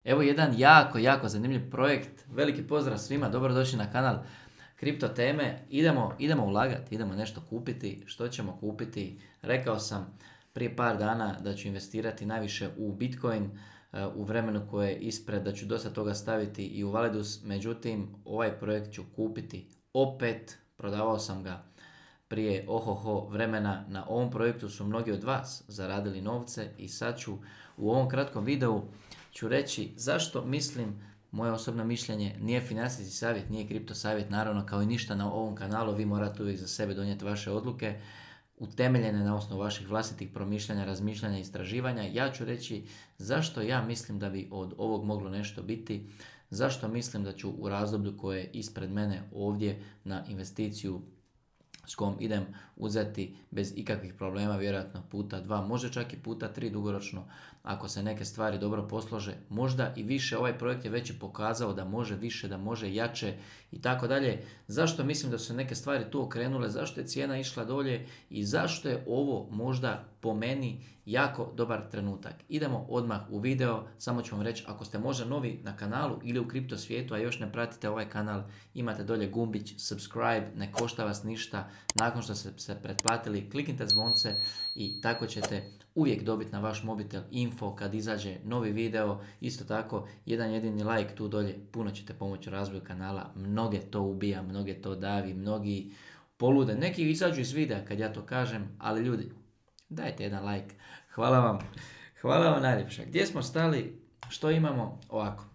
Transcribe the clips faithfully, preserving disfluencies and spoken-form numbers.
Evo jedan jako, jako zanimljiv projekt. Veliki pozdrav svima, dobrodošli na kanal Kripto teme. Idemo, idemo ulagati, idemo nešto kupiti. Što ćemo kupiti? Rekao sam prije par dana da ću investirati najviše u Bitcoin u vremenu koje je ispred, da ću dosta toga staviti i u Validus. Međutim, ovaj projekt ću kupiti opet. Prodavao sam ga prije ohoho vremena. Na ovom projektu su mnogi od vas zaradili novce i sad ću u ovom kratkom videu ću reći zašto mislim, moje osobno mišljenje, nije financijski savjet, nije kripto savjet, naravno kao i ništa na ovom kanalu, vi morate uvijek za sebe donijeti vaše odluke, utemeljene na osnovu vaših vlastitih promišljanja, razmišljanja i istraživanja. Ja ću reći zašto ja mislim da bi od ovog moglo nešto biti, zašto mislim da ću u razdoblju koje je ispred mene ovdje na investiciju s kojom idem uzeti bez ikakvih problema, vjerojatno puta dva, možda čak i puta tri dugoročno, ako se neke stvari dobro poslože, možda i više. Ovaj projekt je već i pokazao da može više, da može jače i tako dalje. Zašto mislim da su se neke stvari tu okrenule, zašto je cijena išla dolje i zašto je ovo možda po meni jako dobar trenutak. Idemo odmah u video, samo ću vam reći, ako ste možda novi na kanalu ili u kripto svijetu, a još ne pratite ovaj kanal, imate dolje gumbić subscribe, ne košta vas ništa. Nakon što ste se pretplatili, kliknite zvonce i tako ćete uvijek dobiti na vaš mobitel info kad izađe novi video. Isto tako, jedan jedini like tu dolje, puno ćete pomoći u razvoju kanala. Mnoge to ubija, mnoge to davi, mnogi polude. Neki izađu iz videa kad ja to kažem, ali ljudi, dajte jedan like. Hvala vam. Hvala vam najljepša. Gdje smo stali? Što imamo? Ovako.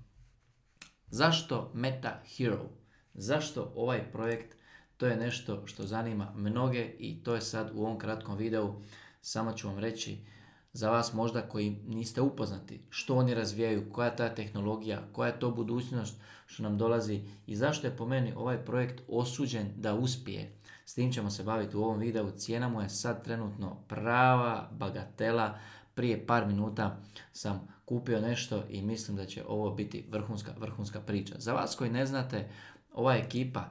Zašto Meta Hero? Zašto ovaj projekt? To je nešto što zanima mnoge i to je sad u ovom kratkom videu. Samo ću vam reći za vas možda koji niste upoznati što oni razvijaju, koja je ta tehnologija, koja je to budućnost što nam dolazi i zašto je po meni ovaj projekt osuđen da uspije. S tim ćemo se baviti u ovom videu. Cijena mu je sad trenutno prava bagatela. Prije par minuta sam kupio nešto i mislim da će ovo biti vrhunska, vrhunska priča. Za vas koji ne znate, ova ekipa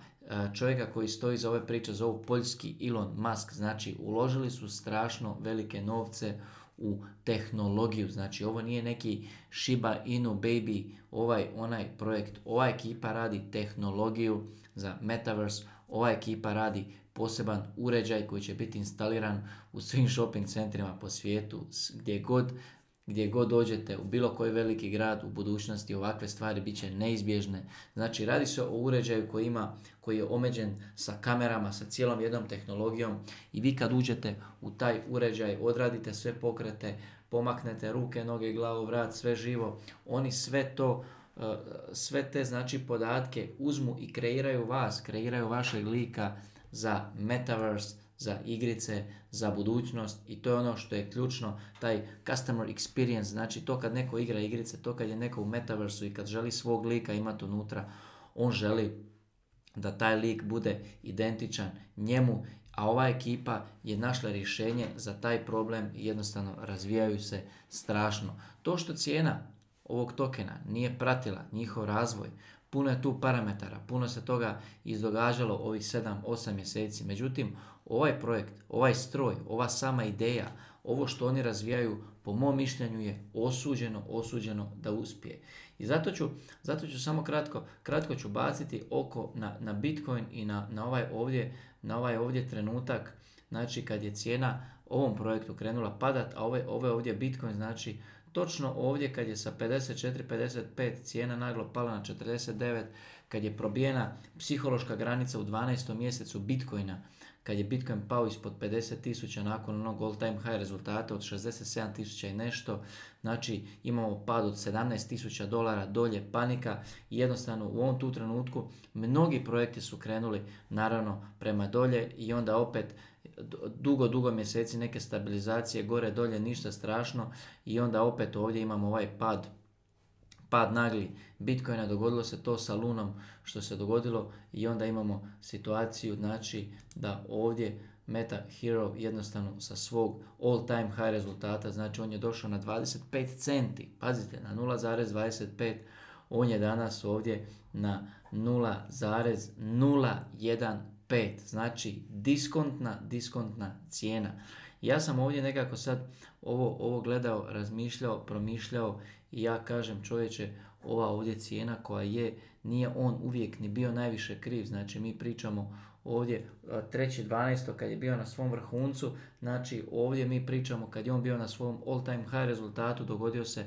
čovjeka koji stoji za ove priče zovu poljski Elon Musk. Znači uložili su strašno velike novce u tehnologiju. Znači ovo nije neki Shiba Inu baby, ovaj onaj projekt. Ova ekipa radi tehnologiju za Metaverse. Ova ekipa radi poseban uređaj koji će biti instaliran u svim shopping centrima po svijetu, gdje god, gdje god dođete, u bilo koji veliki grad u budućnosti ovakve stvari bit će neizbježne. Znači radi se o uređaju koji ima, koji je omeđen sa kamerama, sa cijelom jednom tehnologijom i vi kad uđete u taj uređaj, odradite sve pokrete, pomaknete ruke, noge, glavu, vrat, sve živo, oni sve to sve te znači podatke uzmu i kreiraju vas, kreiraju vašeg lika za Metaverse, za igrice, za budućnost i to je ono što je ključno, taj customer experience, znači to kad neko igra igrice, to kad je neko u Metaversu i kad želi svog lika imati unutra, on želi da taj lik bude identičan njemu, a ova ekipa je našla rješenje za taj problem i jednostavno razvijaju se strašno. To što cijena ovog tokena nije pratila njihov razvoj, puno je tu parametara, puno se toga izdogađalo ovih sedam osam mjeseci. Međutim, ovaj projekt, ovaj stroj, ova sama ideja, ovo što oni razvijaju, po mom mišljenju je osuđeno, osuđeno da uspije. I zato ću, zato ću samo kratko, kratko ću baciti oko na, na Bitcoin i na, na, ovaj ovdje, na ovaj ovdje trenutak, znači kad je cijena ovom projektu krenula padat, a ovaj, ovaj ovdje Bitcoin, znači točno ovdje kad je sa pedeset četiri pedeset pet cijena naglo pala na četrdeset devet, kad je probijena psihološka granica u dvanaestom mjesecu Bitcoina, kad je Bitcoin pao ispod pedeset tisuća nakon onog all time high rezultata od šezdeset sedam tisuća i nešto, znači imamo pad od sedamnaest tisuća dolara dolje, panika i jednostavno u ovom tu trenutku mnogi projekti su krenuli naravno prema dolje i onda opet dugo, dugo mjeseci neke stabilizacije, gore, dolje, ništa strašno i onda opet ovdje imamo ovaj pad, pad nagli Bitcoina, dogodilo se to sa Lunom što se dogodilo i onda imamo situaciju znači da ovdje Meta Hero jednostavno sa svog all time high rezultata, znači on je došao na dvadeset pet centi, pazite, na nula zarez dvadeset pet, on je danas ovdje na nula zarez nula jedan pet, znači diskontna, diskontna cijena. Ja sam ovdje nekako sad ovo, ovo gledao, razmišljao, promišljao i ja kažem čovječe, ova ovdje cijena koja je, nije on uvijek ni bio najviše kriv, znači mi pričamo ovdje treći dvanaesti kad je bio na svom vrhuncu, znači ovdje mi pričamo kad je on bio na svom all time high rezultatu, dogodio se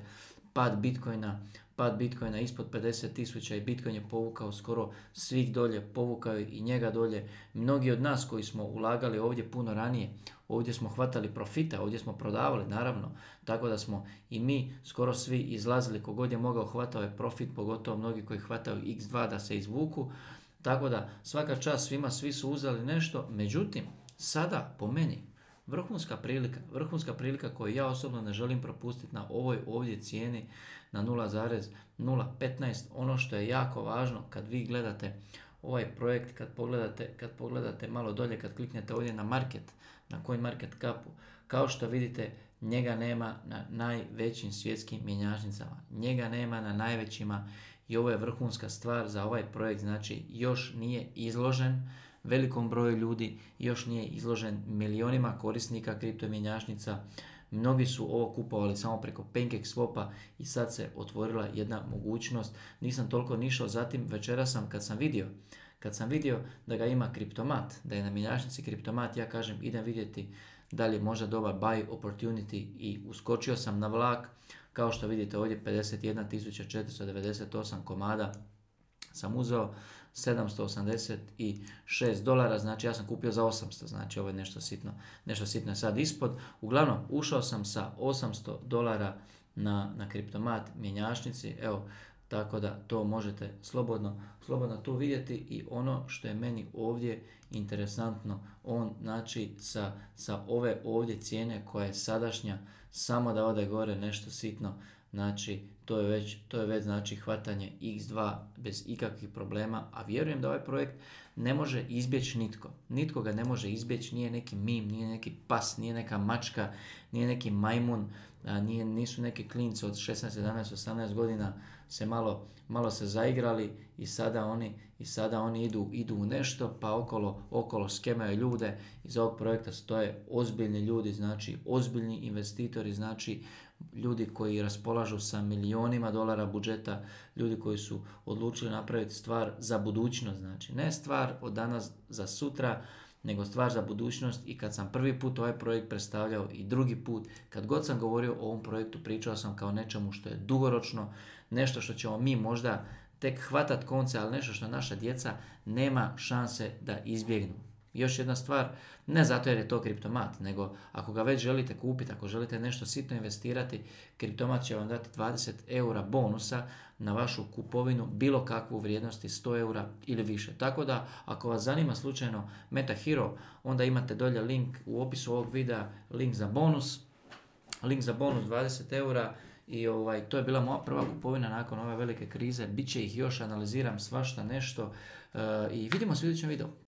pad Bitcoina, pad Bitcoina ispod pedeset tisuća i Bitcoin je povukao skoro svih dolje, povukao je i njega dolje. Mnogi od nas koji smo ulagali ovdje puno ranije, ovdje smo hvatali profita, ovdje smo prodavali naravno, tako da smo i mi skoro svi izlazili, kogod je mogao hvatao je profit, pogotovo mnogi koji hvataju iks dva da se izvuku, tako da svaka čast svima, svi su uzeli nešto, međutim sada po meni vrhunska prilika, vrhunska prilika koju ja osobno ne želim propustiti na ovoj ovdje cijeni na nula zarez nula petnaest. Ono što je jako važno kad vi gledate ovaj projekt, kad pogledate, kad pogledate malo dolje, kad kliknete ovdje na market, na CoinMarketCapu, kao što vidite njega nema na najvećim svjetskim mjenjačnicama, njega nema na najvećima i ovo je vrhunska stvar za ovaj projekt, znači još nije izložen velikom broju ljudi, još nije izložen milionima korisnika kripto mjenjačnica. Mnogi su ovo kupovali samo preko PancakeSwapa i sad se otvorila jedna mogućnost. Nisam toliko nišao, zatim večera sam kad sam vidio kad sam vidio da ga ima Kriptomat, da je na mjenjačnici Kriptomat, ja kažem idem vidjeti da li je možda dobar buy opportunity i uskočio sam na vlak. Kao što vidite ovdje pedeset jedna tisuća četiristo devedeset osam komada sam uzeo, sedamsto osamdeset šest dolara, znači ja sam kupio za osamsto, znači ovo je nešto sitno, nešto sitno je sad ispod. Uglavnom, ušao sam sa osamsto dolara na, na Kriptomat mjenjačnici, evo, tako da to možete slobodno, slobodno tu vidjeti i ono što je meni ovdje interesantno, on znači sa, sa ove ovdje cijene koja je sadašnja, samo da ode gore nešto sitno, znači to je već, to je već znači hvatanje iks dva bez ikakvih problema, a vjerujem da ovaj projekt ne može izbjeći nitko. Nitko ga ne može izbjeći, nije neki mim, nije neki pas, nije neka mačka, nije neki majmun, a nije, nisu neki klinci od šesnaest, sedamnaest, osamnaest godina se malo, malo se zaigrali i sada oni, i sada oni idu, idu u nešto pa okolo, okolo skemaju ljude. Iz ovog projekta stoje ozbiljni ljudi, znači ozbiljni investitori, znači ljudi koji raspolažu sa milionima dolara budžeta, ljudi koji su odlučili napraviti stvar za budućnost, znači ne stvar od danas za sutra, nego stvar za budućnost. I kad sam prvi put ovaj projekt predstavljao i drugi put, kad god sam govorio o ovom projektu, pričao sam kao nečemu što je dugoročno, nešto što ćemo mi možda tek hvatat konce, ali nešto što naša djeca nema šanse da izbjegnu. Još jedna stvar, ne zato jer je to Kriptomat, nego ako ga već želite kupiti, ako želite nešto sitno investirati, Kriptomat će vam dati dvadeset eura bonusa na vašu kupovinu bilo kakvu vrijednosti sto eura ili više. Tako da ako vas zanima slučajno MetaHero, onda imate dolje link u opisu ovog videa, link za bonus, link za bonus dvadeset eura. I ovaj, to je bila moja prva kupovina nakon ove velike krize, bit će ih još, analiziram svašta nešto uh, i vidimo se u idućem videu.